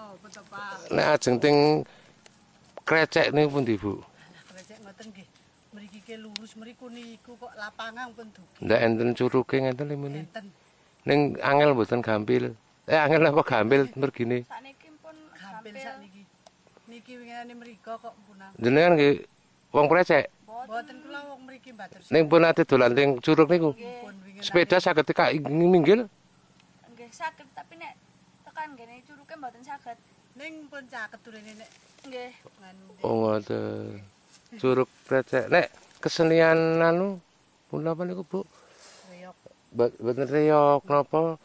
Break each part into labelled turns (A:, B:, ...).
A: Napa to, Pak?
B: Nek ajeng teng Krecek niku pundi, Bu?
A: Lah Krecek ngoten nggih. Mriki ke lurus mriku niku kok lapangan pun dugi.
B: Ndak enten curuge ngenten limune.
A: Enten.
B: Ning angel mboten gampil. Angel apa gampil mergine?
C: Sakniki pun
A: gampil sakniki. Niki wingane mriko kok punang.
B: Jenengan nggih wong Krecek.
A: Mboten kula wong mriki Batur.
B: Ning pun ate dolan teng curug niku. Sepeda saged tekak minggil?
C: Nggih saged, tapi nek tekan ngene curuge mboten saged.
A: Ning pun caket turene nek
C: nggih.
B: Oh ngoten. Curug Krecek. Nek kesenian anu punapa niku, Bu?
A: Reyok.
B: Mboten reyok napa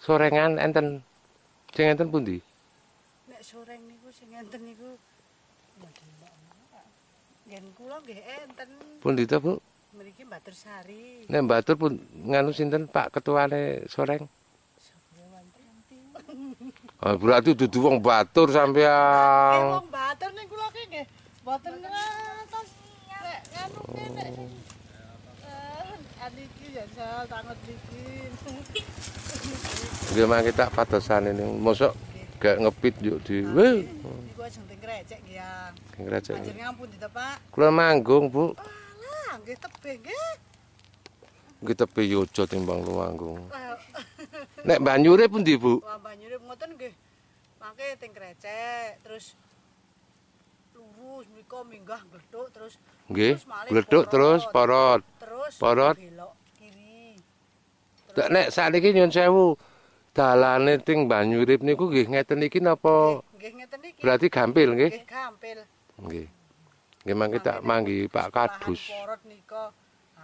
B: sorengan enten. Sing enten pundi?
A: Nek soreng niku sing enten niku mboten. Ngen kula nggih enten.
B: Pundi to, Bu?
A: Mriki Batursari.
B: Nek Batur pun nganu sinten Pak ketuane soreng? Oh, berarti dudu wong Batur sampean.
A: Wong Batur ning kula ki nggih mboten ngantos nek nganu ki nek sing aniki ya sal tanget niki.
B: Nggih mangke tak padosane niku. Mosok gak ngepit yo dhewe.
A: Niku ajeng teng Krecek nggih ya.
B: Teng Krecek.
A: Panjenengan pundi to, Pak?
B: Kula manggung, Bu.
A: Alah, nggih tebih nggih.
B: Nggih tebih yojo timbang Lumanggung. Nek Banyure pundi, Bu?
A: Wah, Banyure ngoten nggih. Mangke teng Krecek terus lurus mriko minggah gledhuk terus.
B: Nggih, gledhuk terus porot.
A: Terus
B: porot
A: belok kiri.
B: Nek sakniki nyun sewu, dalane teng Banyurip niku nggih ngeten iki napa?
A: Nggih ngeten iki.
B: Berarti gampil nggih?
A: Nggih gampil.
B: Nggih. Nggih mangke tak manggi Pak Kadus.
A: Porot nika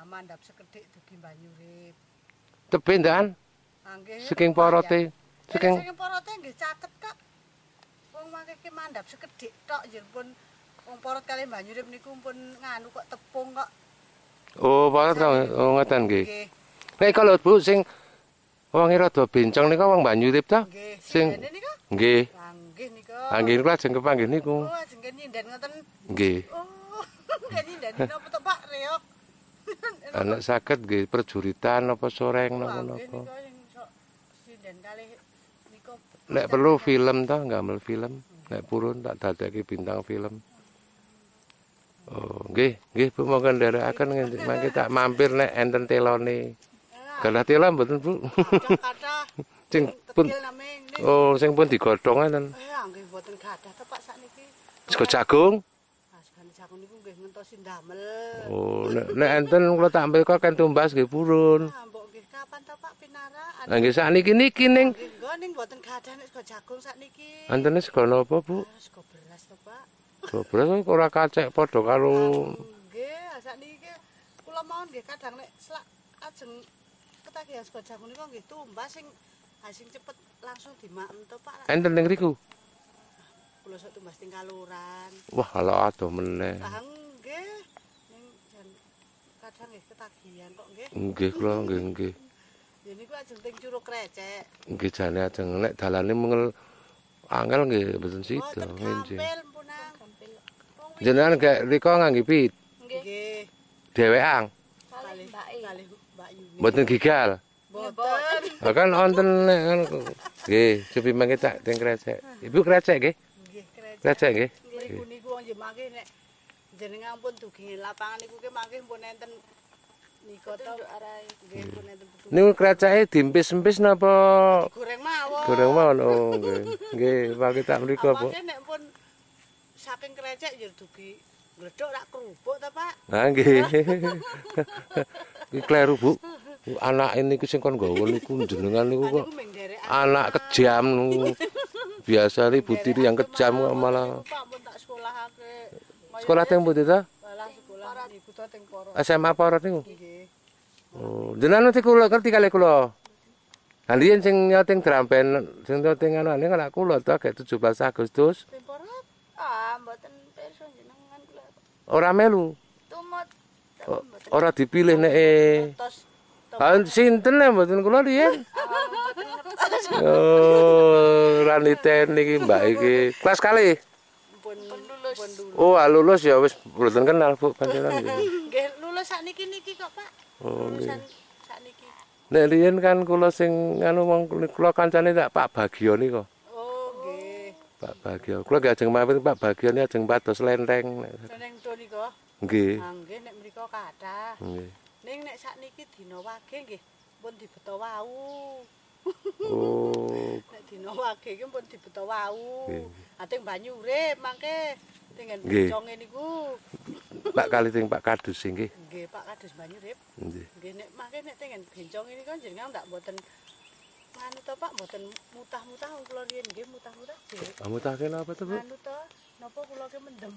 A: mandhap sekedhik dugi Banyurip.
B: Tebih ndan?
A: Nggih.
B: Saking porote.
A: Saking porote nggih caket kok. Wong mangke ki mandhap sekedhik tok nggih pun wong porot kalih Banyurip niku pun nganu kok tepung kok.
B: Oh, porot kok oh ngoten nggih. Nek kalau Bu sing wonge rada bencong nika wong Banyurip ta?
A: Nggih.
B: Sing nggih.
A: Nggih nika.
B: Nggih kula ajeng kepanggih niku.
A: Oh, ajeng nyinden ngoten.
B: Nggih.
A: Oh, nggih nyinden napa to Pak Reok?
B: Anak saged nggih prajuritan apa soreng napa-napa. Nek perlu film ta, gamel film. Nek purun tak dadekke bintang film. Oh, nggih, nggih Bu monggo nderekaken mangke tak mampir nek enten telone. Galah tela mboten Bu? Sing pun oh, sing pun digodhong enten.
A: Nggih mboten gadah to Pak sakniki.
B: Sego jagung.
A: Segane jagung niku nggih ngentosi ndamel.
B: Oh, nek enten kula tak ambil kok kan tumbas nggih purun.
A: Mbok nggih kapan to Pak pinarakan?
B: Lah nggih sakniki niki ning
A: nggih ning mboten gadah nek sego jagung sakniki.
B: Entene sego napa Bu?
A: Sego beras to Pak.
B: Sego beras ora kacek padha karo
A: nggih, sakniki kula mawon nggih kadang nek selak ajeng ketagihan sego jagung niku nggih tumbas sing sing cepet langsung dimaem to Pak.
B: Enten ning riku?
A: Kula sok tumbas teng Kaloran.
B: Wah, ala adoh meneh.
A: Lah nggih ning jan kadang nggih ketagihan kok nggih.
B: Nggih kula nggih nggih.
A: Ya niku ajeng teng Curug Krecek.
B: Nggih jane ajeng nek dalane mengel angel nggih mboten sida nggih. Jenengan gak rika ngangge pit?
A: Nggih.
B: Dhewean.
C: Kalih
A: Mbak Yuni.
B: Mboten gigal.
A: Mboten.
B: Lah kan wonten nggih, cupi mangke tak teng Krecek. Ibu Krecek nggih?
A: Nggih, Krecek.
B: Krecek nggih.
A: Mriku niku wong nggih mangke nek jenengan pun dugi lapangan niku ki mangke pun enten nika to nggih pun enten petunjuk.
B: Niku kreceke diempis-empis napa
A: goreng mawon?
B: Goreng mawon. Oh nggih. Nggih, mangke tak mriku, Bu.
A: Nek pun saking Krecek ya dugi gledhok rak kerupuk ta, Pak?
B: Ha nggih. Iki kleru, Bu. Anake niku sing kon nggawa niku jenengan niku kok anak kejam niku. Biasa ibu tiri yang kejam kok malah. Sekolah teng pundi ta?
A: Sekolah niku ta teng Porot.
B: SMA Porot niku?
A: Nggih.
B: Oh, jenengan ngerti kula ngerti kalih kula. Lah riyen sing nyoting drum band, sing nyoting anane kan kula ta gek 17 Agustus.
A: Teng Porot?
C: Ah, mboten pirsa jenengan kula.
B: Ora melu.
C: Tumut.
B: Ora dipilih nek Ah, sinten nek mboten kula riyen. Oh, ora niten iki Mbak iki. Kelas kalih.
A: Pun lulus.
B: Oh, lulus ya wis mboten kenal Bu panjenengan nggih.
A: Nggih, lulus sakniki niki kok, Pak.
B: Oh, nggih.
A: Sakniki.
B: Nek riyen kan kula sing anu wong kula kancane tak Pak Bagio nika.
A: Oh, nggih.
B: Pak Bagio. Kula nggih ajeng mampir Pak Bagio niki ajeng pados lenteng.
A: Lenteng to nika.
B: Nggih.
A: Ah nggih nek mriko kathah.
B: Nggih.
A: Ning nek sakniki dina wage nggih pun dibeto wau.
B: Oh.
A: Nek dina wage iki pun dibeto wau. Ating banyu urip mangke tingen benconge niku.
B: Pak kali teng Pak Kadus nggih.
A: Nggih, Pak Kadus banyu urip.
B: Nggih.
A: Nggih nek mangke nek tingen benconge niku jenengan ndak mboten anu to Pak, mboten mutah-mutah wong kula riyen nggih mutah-mutah.
B: Ah mutahke napa to, Bu?
A: Anu to, napa kula ki mendem.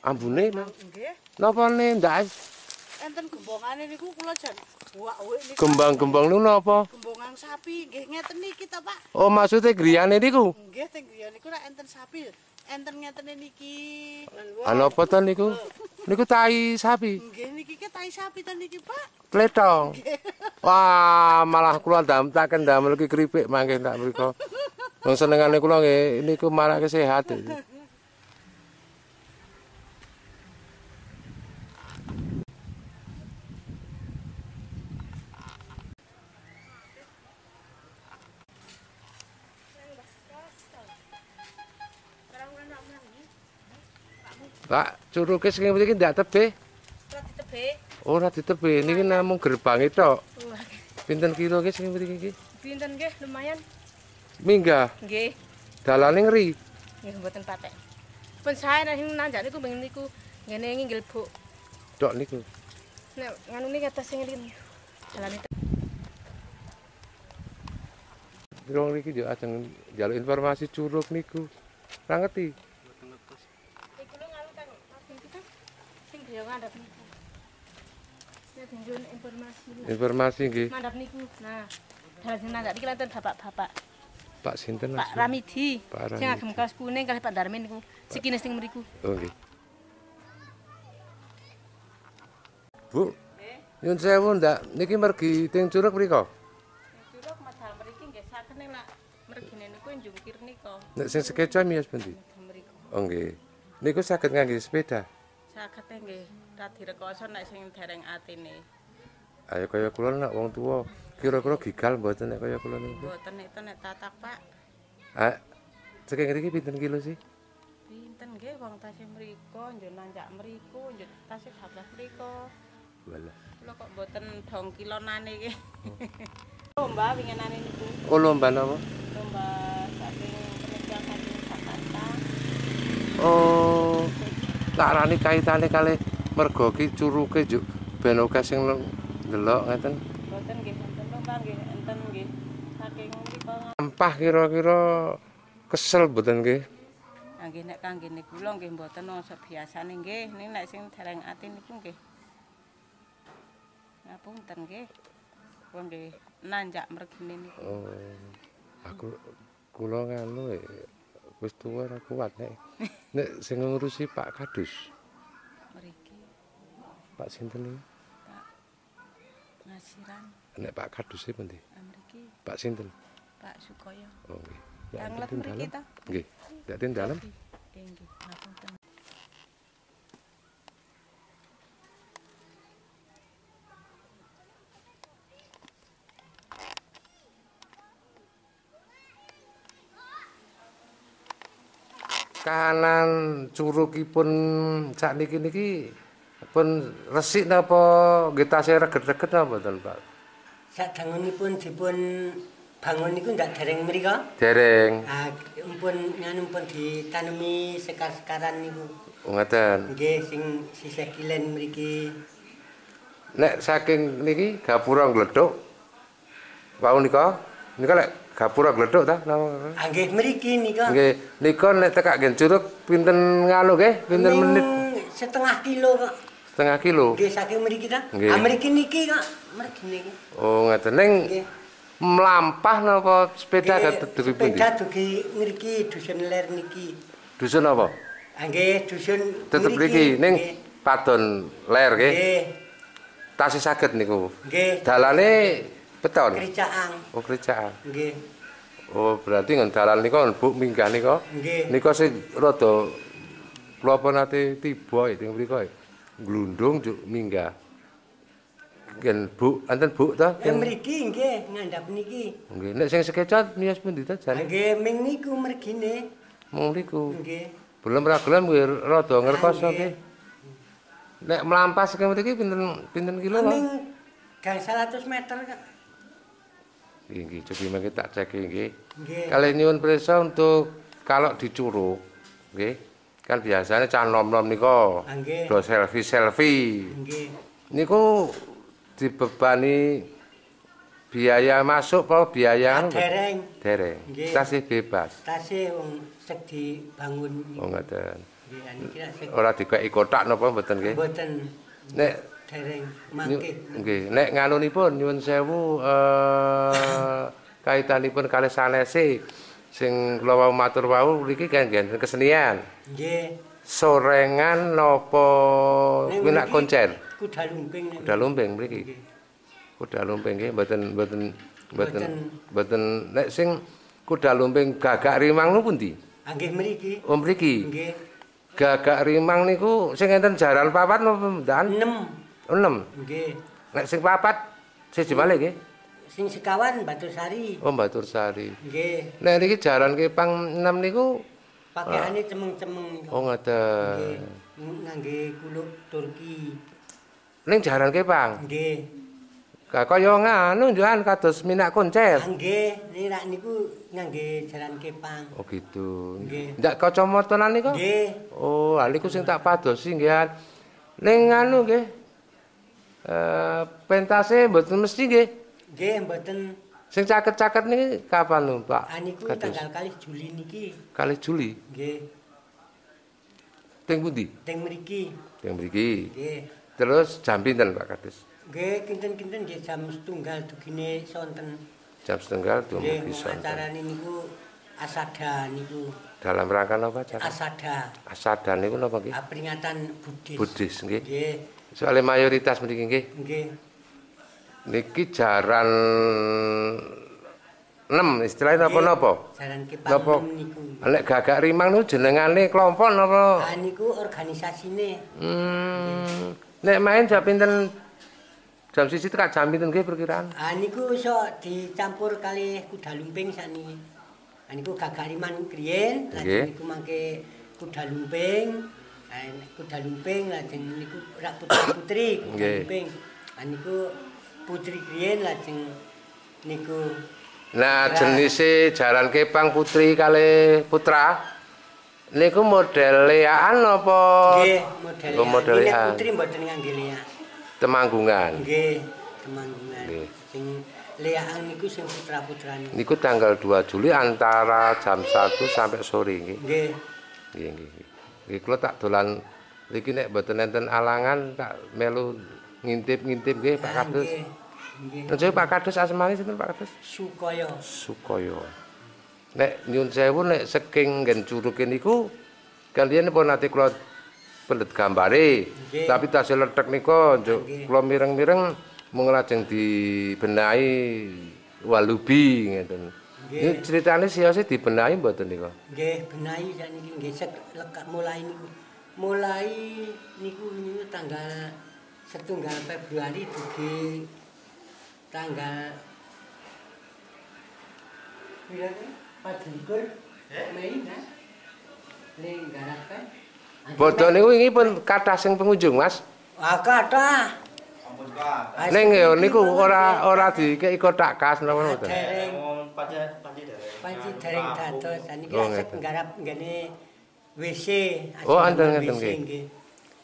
B: Ambune lho.
A: Nggih.
B: Napane ndak
A: enten gembongane niku kula jan buak-wik niku.
B: Gembang-gembang niku napa?
A: Gembongan sapi nggih ngeten niki to, Pak.
B: Oh, maksudnya griyane niku?
A: Nggih, teng griya niku rak enten sapi. Enten ngetene niki.
B: Ah napa to niku? Niku tai sapi.
A: Nggih niki ki tai sapi to niki, Pak.
B: Tletong. Wah, malah kula ndamtaken ndamel ki keripik mangke tak mriko. Wong senengane kula nggih niku marake sehat. Pak, curuke sing mriki ndak tebih?
C: Ora ditebih.
B: Ora ditebih, niki namung gerbange tok. Pinten kilo ki sing mriki iki?
C: Pinten nggih, lumayan.
B: Minggah?
C: Nggih.
B: Dalane ngeri?
C: Nggih mboten patek. Pun sae nek sing nanjak niku bengi niku ngene nginggil buk.
B: Tok niku.
C: Nek nganune kados sing ngene. Dalane.
B: Wong niki yo ajeng njaluk informasi curug niku. Ora ngerti. Informasi nggih.
C: Mandhap niku. Nah, dalan sing nandak niki wonten bapak-bapak.
B: Pak sinten?
C: Pak Ramidi. Sing agem kaos kuning kalih Pak Darmin niku. Sikine sing mriku.
B: Oh nggih. Bu. Nyun sewu ndak niki mergi teng curug mriko?
D: Curug medal mriki nggih saged nek lak mergine niku njungkir nika.
B: Nek sing sekeca miyos pundi?
D: Mriku.
B: Oh nggih. Niku saged ngangge sepeda.
D: Saged nggih, radi rekoso nek sing dereng atine.
B: Ayo kaya kula nek wong tuwa kira-kira gigal mboten nek kaya kula niku.
D: Mboten nek nek tatak, Pak.
B: Ah, saking ngriki pinten kilo sih?
D: Pinten nggih wong tasih mriko, njuk nanjak mriku, njuk tasih bablas mriko.
B: Walah.
D: Kula kok mboten dong kilonane iki. Lomba winginane niku.
B: Oh, lomba napa?
D: Lomba saking penelitian saking Jakarta.
B: Oh. Tak rani kaitane kalih merga ki curuke njuk ben akeh sing ndelok ngeten.
D: Mboten nggih enten lomba nggih enten nggih saking mriku.
B: Sampah kira-kira kesel mboten nggih?
D: Ah nggih nek kanggene kula nggih mboten wong biasane nggih. Ning nek sing dereng ati niku nggih. Ngapunten nggih. Kula nggih nanjak mergine niku.
B: Oh. Aku kula nganu wis tuwa ora kuat nek. Nek sing ngurusi Pak Kadus.
D: Mriki.
B: Pak sinten niku?
D: Pak Ngasiran.
B: Nek Pak Kadus e pundi?
D: Mriki.
B: Pak sinten?
D: Pak Sukoyo.
B: Oh nggih.
D: Tanglet mriki ta?
B: Nggih. Ndak ten dalem?
D: Nggih, nggih. Ngapunten.
B: Kahanan curugipun sakniki niki pun resik napa nggih tasih reget-reget napa mboten, Pak?
E: Sadangunipun dipun bangun niku ndak dereng mriko?
B: Dereng.
E: Ah, pun nganu pun ditanemi sekar-sekaran niku.
B: Oh, ngaten.
E: Nggih, sing sisih kilen mriki.
B: Nek saking niki gapura ngledhuk. Wau nika, nika lek gapura gledhuk ta napa?
E: Ah nggih mriki nika.
B: Nggih, nika nek tekak ngen curug pinten nganu nggih? Pinten menit?
E: Setengah kilo kok.
B: Setengah kilo?
E: Nggih saking mriki ta. Ah mriki niki kok, mriki niki.
B: Oh ngaten ning mlampah napa sepeda dugi pundi?
E: Sepeda dugi ngriki dusun ler niki.
B: Dusun apa?
E: Ah nggih dusun
B: tetep mriki ning Padon Ler nggih.
E: Nggih.
B: Tasih saged niku.
E: Nggih.
B: Dalane beton.
E: Kericaan.
B: Oh, kericaan.
E: Nggih.
B: Oh, berarti nggon dalan nika Bu minggah nika.
E: Nggih.
B: Nika sing rada kula apa nate tiba teng mriku. Glundung njuk minggah. Ngen Bu, enten Bu ta?
E: Teng mriki nggih, ngandhap niki.
B: Nggih, nek sing sekeca miyos pundi ta jane?
E: Nggih, ming niku mergine.
B: Mung mriku.
E: Nggih.
B: Belum ra gelem nggih rada ngrekoso
E: Nggih.
B: nggih. Nek mlampas ke mriki pinten kilo, Pak?
E: Ming gangsal atus meter kok.
B: Nggih, nggih, cobi mangke tak cek nggih.
E: Nggih.
B: Kali nyuwun pirsa untuk kalau di Curug, nggih. Kan biasanya cah nom-nom nika
E: Ah, nggih.
B: do selfie-selfie.
E: Nggih.
B: Niku dibebani biaya masuk apa biaya anu?
E: Dereng.
B: Dereng.
E: Nggih.
B: Tasih bebas.
E: Tasih wong sek dibangun.
B: Oh ngoten.
E: Nggih, niki lak sek
B: Ora dikeki kotak napa mboten nggih?
E: mboten
B: Nek
E: dereng mangke.
B: nggih, nek nganunipun nyuwun sewu kaitanipun kalih sanese sing kula wau matur wau niki kan nggih kesenian.
E: Nggih.
B: Sorengan napa
E: Nek
B: kuwi nak
E: mriki
B: koncer?
E: Kuda lumping nek.
B: Kuda lumping mriki.
E: Nggih.
B: Kuda lumping nggih mboten mboten mboten
E: Mboten.
B: mboten nek sing kuda lumping Gagak Rimang niku pundi?
E: Ah, nggih mriki.
B: Oh mriki.
E: Nggih.
B: Gagak Rimang niku sing enten jaran papat napa mboten?
E: 6.
B: Oh, 6.
E: Nggih.
B: Nek sing papat siji malih nggih.
E: Sing sekawan Batursari.
B: Oh Batursari.
E: Nggih.
B: Nek niki jaran kepang 6 niku
E: Pakaiane cemeng-cemeng niku.
B: oh
E: Nggih.
B: ngoten.
E: Ngangge kuluk Turki.
B: Ning jaran kepang.
E: Nggih.
B: Kaya nganu njuan kados minak koncer.
E: Ah, nggih, niki rak niku ngangge jaran kepang.
B: Oh gitu.
E: Nggih.
B: Ndak kacamatanan niku?
E: Nggih.
B: Oh, lha niku sing tak padosi nggih. Ning nganu nggih. Pentase mboten mesti nggih.
E: Nggih, mboten.
B: Sing caket-caket niki kapan lho, Pak?
E: Ah niku
B: Kados.
E: tanggal 2 Juli niki.
B: Kalih Juli.
E: Nggih.
B: Teng pundi?
E: Teng mriki.
B: Teng mriki.
E: Nggih.
B: Terus jam pinten, Pak Kadus?
E: Nggih, kinten-kinten nggih jam setunggal dugine sonten.
B: Jam setunggal
E: Nggih,
B: dumugi
E: wong
B: sonten.
E: acarane niku Asada niku.
B: Dalam rangka napa acara?
E: Asada.
B: Asada niku napa nggih?
E: Ah, peringatan Buddhis.
B: Buddhis nggih.
E: Nggih.
B: Soale mayoritas mriki nggih.
E: Nggih.
B: Niki jaran 6 istilahnya napa-napa?
E: Jaran kepang
B: Napa?
E: niku.
B: Nek Gagak Rimang niku jenengane kelompok napa?
E: Ah niku organisasine.
B: Nek main jam pinten? Jam 1 tekan jam pinten nggih perkiraan?
E: Ah niku iso dicampur kalih kuda lumping sakniki. Ah niku Gagak Rimang kriyen, lajeng niku mangke kuda lumping. Ah kuda lumping lajeng niku rak putra-putri kuda lumping. Ah niku putri kriyen lajeng niku.
B: Nah, jenise jaran kepang putri kalih putra niku model leaan apa?
E: Nggih, model.
B: Oh, model leaan.
E: Putri mboten ngangge leak.
B: Temanggungan.
E: Nggih, temanggungan.
B: Nggih.
E: Sing leaan niku sing putra-putrane.
B: Niku tanggal 2 Juli antara jam 1 sampai sore nggih.
E: Nggih.
B: Nggih, nggih. Nggih kula tak dolan niki nek mboten enten alangan tak melu ngintip-ngintip nggih Pak Kadus.
E: Nggih. Nggih.
B: Nuwun sewu Pak Kadus asmane sinten Pak Kadus?
E: Sukoyo.
B: Sukoyo. Nek nyun sewu nek saking nggen curuke niku kaliyan pun nate kula pendet gambare.
E: Nggih.
B: Tapi tasih lethek nika njuk kula mireng-mireng mung lajeng dibenahi walubi ngeten.
E: Nggih.
B: Ini ceritane siyose dibenahi mboten nika?
E: Nggih, benahi sakniki nggih sek lekak mulai niku. Mulai niku niku tanggal setunggal Februari dugi tanggal pira 24 Mei nah. Le garape.
B: Bodho niku wingi pun kathah sing pengunjung, Mas.
E: Ah kathah.
B: Ning ya niku ora dikeki kothak kas napa mboten.
E: Dereng.
F: Panci
E: Panci dereng dados. Saniki
B: Oh,
E: asik
B: ngeten.
E: nggarap nggene WC.
B: Oh, enten ngeten nggih.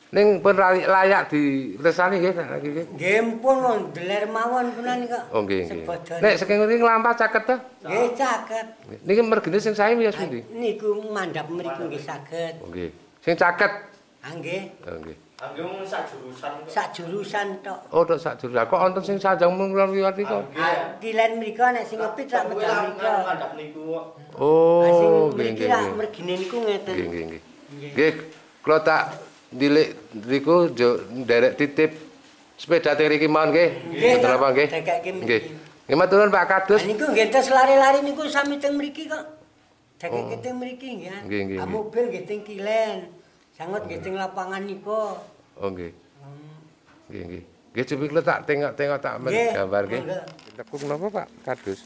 B: Ning pun layak diresani nggih saiki nggih.
E: Nggih pun wong deler mawon punan kok.
B: Oh nggih nggih.
E: Sebodone.
B: Nek saking ngriki nglampah caket ta?
E: Nggih caket.
B: Niki mergine sing sae wis pundi?
E: Niku mandhap mriku nggih saged.
B: Oh nggih. Sing caket.
E: Ah nggih.
B: Oh nggih.
F: Angge mung sak jurusan kok.
E: Sak jurusan tok.
B: Oh tok sak jurusan. Kok wonten sing sanjang mung liwat niku?
E: Ah, kilen mriku nek sing ngepit rak medal mriku.
F: Mandhap niku kok.
E: Ah, sing
B: Oh nggih
E: mriki
B: nggih.
E: rak mergine niku ngeten.
B: Nggih nggih nggih. Nggih, kula tak ndilik niku nderek titip sepeda teng mriki mawon nggih.
E: Nggih,
B: Mboten apa nggih.
E: Dekeke mriki.
B: Nggih. Nggih matur nuwun Pak Kadus.
E: Ah niku nggih terus lari-lari niku sami teng mriki kok. Dekeke teng mriki nggih.
B: Nggih, nggih,
E: Ah
B: nggih.
E: mobil nggih teng kilen. Sangot nggih teng lapangan niku.
B: Oh nggih. Nggih nggih. Nggih cupi kula tak tengok-tengok tak men
E: Nggih,
B: gambar nggih.
E: monggo.
B: Tekung napa Pak Kadus?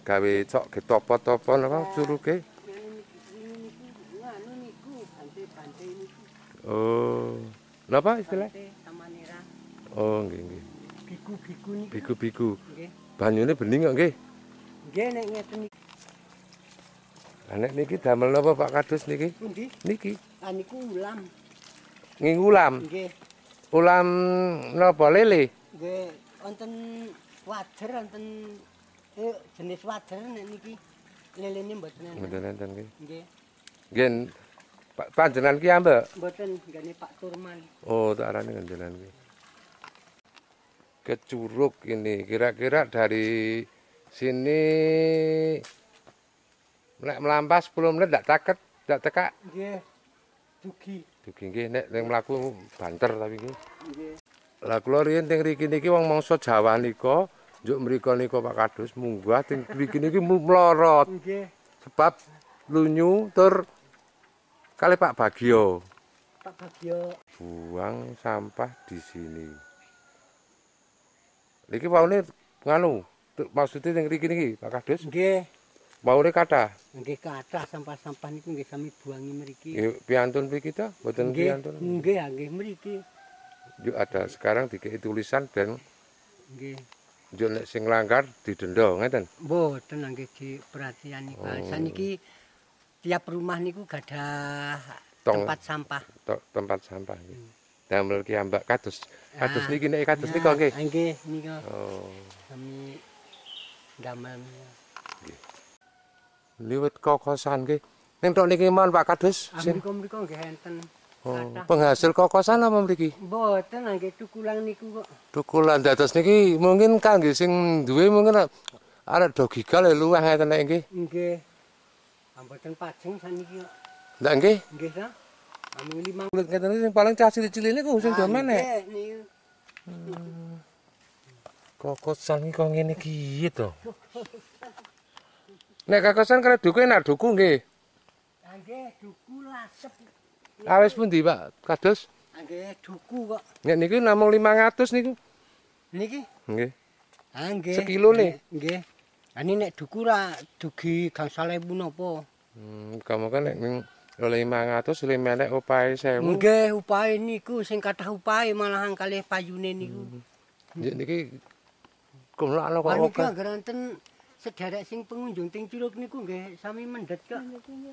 B: Gawe cok ge topo-topo napa curuke?
A: Niki
B: Oh. Napa istilah?
E: Samanera.
B: Oh, nggih nggih.
E: Biku-biku niku.
B: Biku-biku.
E: Nggih.
B: Banyune bening kok nggih.
E: Nggih nek ngeten iki.
B: Lah nek niki damel napa Pak Kadus niki?
E: Pundi?
B: Niki.
E: Ah niku ulam.
B: Nggih ulam.
E: Nggih.
B: Ulam napa lele?
E: Nggih, wonten wader wonten jenis wader nek niki lelene mboten enten.
B: Mboten enten nggih.
E: Nggih.
B: Nggih panjenengan ki ambek?
E: Mboten, nggene Pak Turman.
B: Oh, tak arani njenengan ki. Ke Curug ini kira-kira dari sini nek mlampah 10 menit ndak taket, ndak tekak.
E: Nggih. Dugi.
B: Dugi nggih nek ning mlaku banter tapi nggih.
E: Nggih.
B: Lah kula riyen teng mriki niki wong mangsa Jawa nika njuk mriko nika Pak Kadus munggah teng mriki niki mlorot.
E: Nggih.
B: Sebab lunyu tur kali Pak Bagio.
E: Pak Bagio.
B: Buang sampah di sini. Niki waune nganu, maksudnya teng mriki niki Pak Kadus?
E: Nggih.
B: Waune kathah.
E: Nggih kathah sampah-sampah niku nggih sami buangi mriki.
B: Nggih piantun mriki ta? Mboten piantun.
E: Nggih, nggih mriki.
B: Yuk ada sekarang dikei tulisan dan
E: nggih.
B: Njuk nek sing langgar didenda ngeten.
E: Mboten nggih diperhatian niku.
B: Oh.
E: Saniki tiap rumah niku gadah tempat sampah.
B: Tempat sampah nggih. Damel ki ambak kados. Kados niki nek kados nika nggih.
E: Nggih nika.
B: Oh.
E: Sami damel.
B: Nggih. Liwet kokosan nggih. Ning tok niki mawon Pak Kadus.
E: Mriko-mriko nggih enten.
B: Oh, penghasil kokosan apa mriki?
E: Mboten nggih tukulan niku kok.
B: Tukulan dados niki mungkin kangge sing duwe mungkin arek do gigal luwih ngeten nek nggih.
E: Nggih. Mboten pajeng saniki kok.
B: Ndak nggih?
E: Nggih ta. Amung 5
B: kulit ngeten sing paling cah cilik-cilik niku sing do menek.
E: Nggih niku.
B: Kokosan iki kok ngene iki to. Nek kokosan karo duku enak duku nggih.
E: Nggih, duku lasep.
B: Awis pundi Pak Kadus?
E: Nggih, duku kok.
B: Nek niki namung 500 niku.
E: Niki?
B: Nggih.
E: Ah nggih.
B: Sekilo nih.
E: Nggih. Lah nek duku ra dugi gangsal ewu napa?
B: Kamu kan nek ning 500 lima nek upahe 1000.
E: Nggih, upahe niku sing kathah upahe malahan kalih payune niku.
B: Nggih niki kumlakno kok.
E: Niki anggere enten sederek sing pengunjung teng Curug niku nggih sami mendhet kok.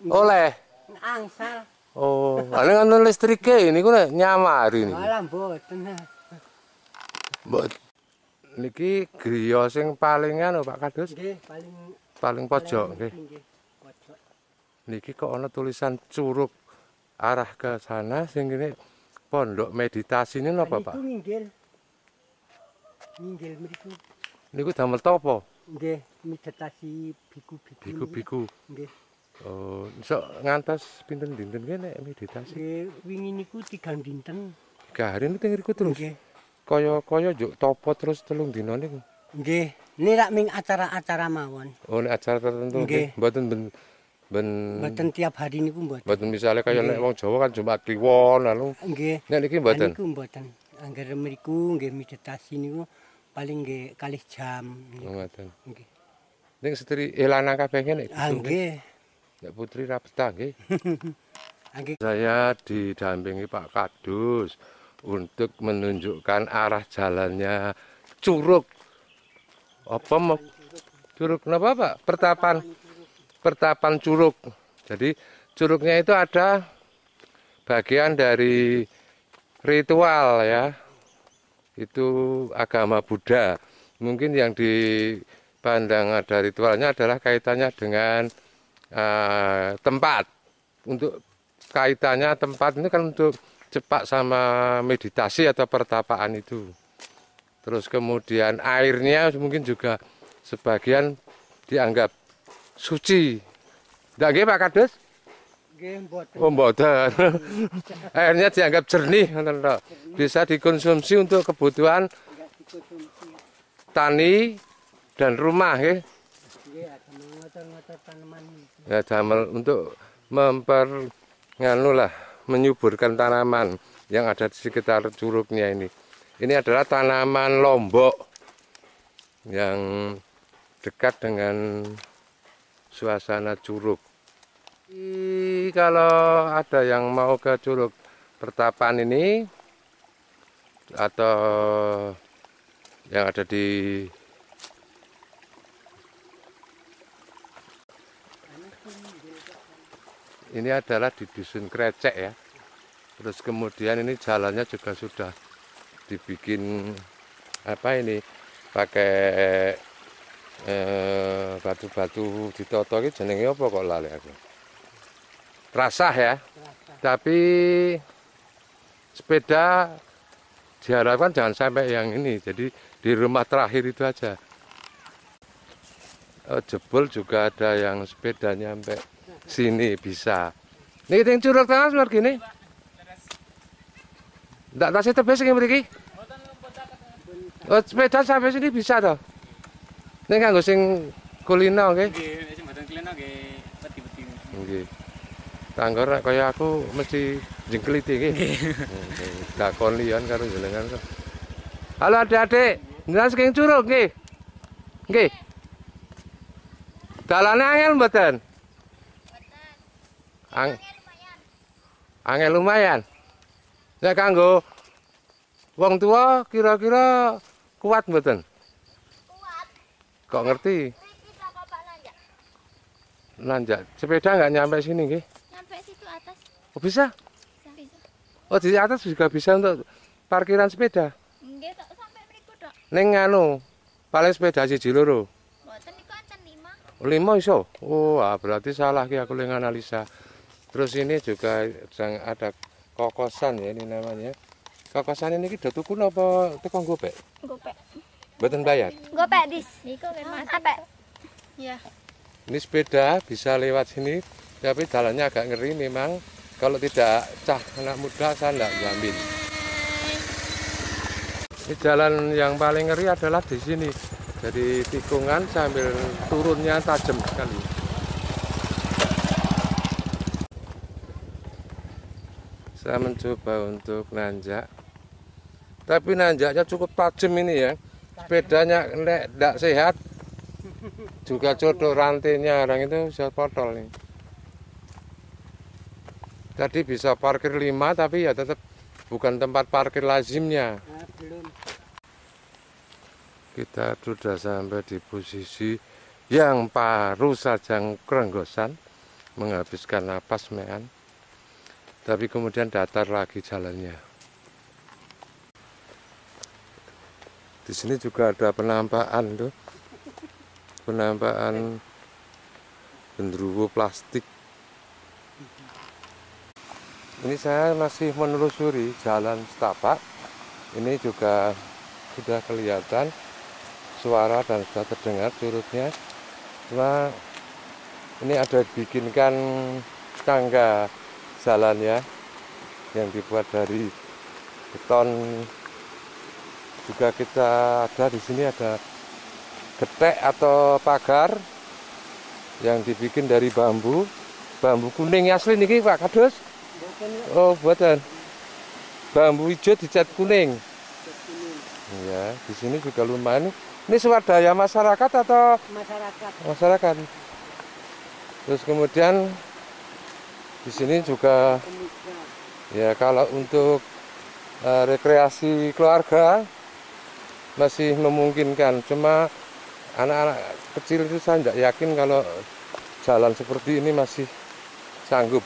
B: Oleh
E: angsal.
B: Oh, lha ngono listrike niku nek nyamari niku.
E: Alah mboten.
B: Mbok niki griya sing paling anu Pak Kadus?
E: Nggih,
B: paling pojok nggih.
E: Pojok.
B: Niki kok ana tulisan Curug arah ke sana sing kene pondok meditasi ini napa Pak?
E: Niku nginggil. Nginggil mriku.
B: Niku damel topo?
E: Nggih, meditasi biku-biku.
B: Biku-biku.
E: Nggih.
B: Oh, sok ngantos pinten dinten nggih nek meditasi?
E: Nggih, wingi niku 3 dinten.
B: 3 hari niku teng ngriku terus.
E: Nggih.
B: Kaya-kaya njuk topo terus 3 dina niku.
E: Nggih, niki rak ming acara-acara mawon.
B: Oh, nek acara tertentu nggih. Mboten ben
E: mboten tiap hari niku mboten.
B: Mboten misale kaya nek wong Jawa kan Jumat Kliwon lalu.
E: Nggih.
B: Nek niki mboten.
E: Niku mboten. Angger mriku nggih meditasi niku paling nggih 2 jam.
B: Ngoten.
E: Nggih.
B: Ning setri lanang kabeh nek.
E: Nggih.
B: Nek putri ra betah nggih. Saya didampingi Pak Kadus untuk menunjukkan arah jalannya Curug. Apa mau Curug kenapa Pak? Pertapan Curug. Jadi curugnya itu ada bagian dari ritual ya. Itu agama Buddha. Mungkin yang dipandang ada ritualnya adalah kaitannya dengan tempat. Untuk kaitannya tempat ini kan untuk cepat sama meditasi atau pertapaan itu. Terus kemudian airnya mungkin juga sebagian dianggap suci. Ndak nggih Pak Kadus?
E: Nggih mboten.
B: Oh mboten. Airnya dianggap jernih ngoten tok. Bisa dikonsumsi untuk kebutuhan tani dan rumah nggih.
E: Nggih, ngotor-ngotor tanaman.
B: Ya damel untuk menyuburkan tanaman yang ada di sekitar curugnya ini. Ini adalah tanaman lombok yang dekat dengan suasana curug. Kalau ada yang mau ke Curug pertapaan ini atau yang ada di ini adalah di Dusun Krecek ya. Terus kemudian ini jalannya juga sudah dibikin apa ini pakai batu-batu ditoto iki jenenge apa kok lali aku. Terasah ya. Tapi sepeda diharapkan jangan sampai yang ini. Jadi di rumah terakhir itu aja. Jebol juga ada yang sepedanya sampai sini bisa. Niki teng Curug Tengah luar gini. Ndak tasih tebih sing mriki? Oh, sepeda sampai sini bisa toh. Ning kanggo sing kulino nggih.
G: Nggih, nek sing mboten kulino nggih wedi-wedi.
B: Nggih. Tanggor nek kaya aku mesti jengkliti nggih. Dakon liyan karo jenengan kok. Halo adik-adik, jenengan saking Curug nggih. Nggih. Dalane angel mboten? Mboten. Angel lumayan. Nek kanggo wong tua kira-kira kuat mboten?
H: Kuat.
B: Kok ngerti?
H: Mriki kok Pak nanjak.
B: Nanjak. Sepeda nggak nyampe sini nggih?
H: Nyampe situ atas.
B: Oh, bisa?
H: Bisa.
B: Oh, di atas juga bisa untuk parkiran sepeda.
H: Nggih, tok sampai mriku tok.
B: Ning anu, paling sepeda siji loro.
H: Mboten niku enten 5.
B: 5 iso. Oh, ah, berarti salah ki aku ling analisa. Terus ini juga sedang ada kokosan ya ini namanya. Kokosan ini ki do tuku napa teko gopek?
H: Gopek.
B: Mboten bayar.
H: Gopek dis. Niku nggih Mas. Apik. Iya.
B: Ini sepeda bisa lewat sini, tapi jalannya agak ngeri memang. Kalau tidak cah anak muda saya enggak jamin. Ini jalan yang paling ngeri adalah di sini. Jadi tikungan sambil turunnya tajam sekali. Saya mencoba untuk nanjak, tapi nanjaknya cukup tajam ini ya. Sepedanya nek ndak sehat juga jodoh rantainya orang itu bisa potol nih. Tadi bisa parkir 5 tapi ya tetap bukan tempat parkir lazimnya.
E: Nah, belum.
B: Kita sudah sampai di posisi yang baru saja kerenggosan, menghabiskan napas mean. Tapi kemudian datar lagi jalannya. Di sini juga ada penampakan tuh. Penampakan genderuwo plastik. Ini saya masih menelusuri jalan setapak. Ini juga sudah kelihatan suara dan sudah terdengar curugnya. Cuma ini ada dibikinkan tangga jalannya yang dibuat dari beton. Juga kita ada di sini ada getek atau pagar yang dibikin dari bambu, bambu kuning asli niki Pak Kadus. Oh, buatan bambu hijau dicat kuning. Ya, di sini juga lumayan. Ini swadaya masyarakat atau
E: masyarakat?
B: Masyarakat. Terus kemudian di sini juga ya kalau untuk rekreasi keluarga masih memungkinkan. Cuma anak-anak kecil itu saya tidak yakin kalau jalan seperti ini masih sanggup.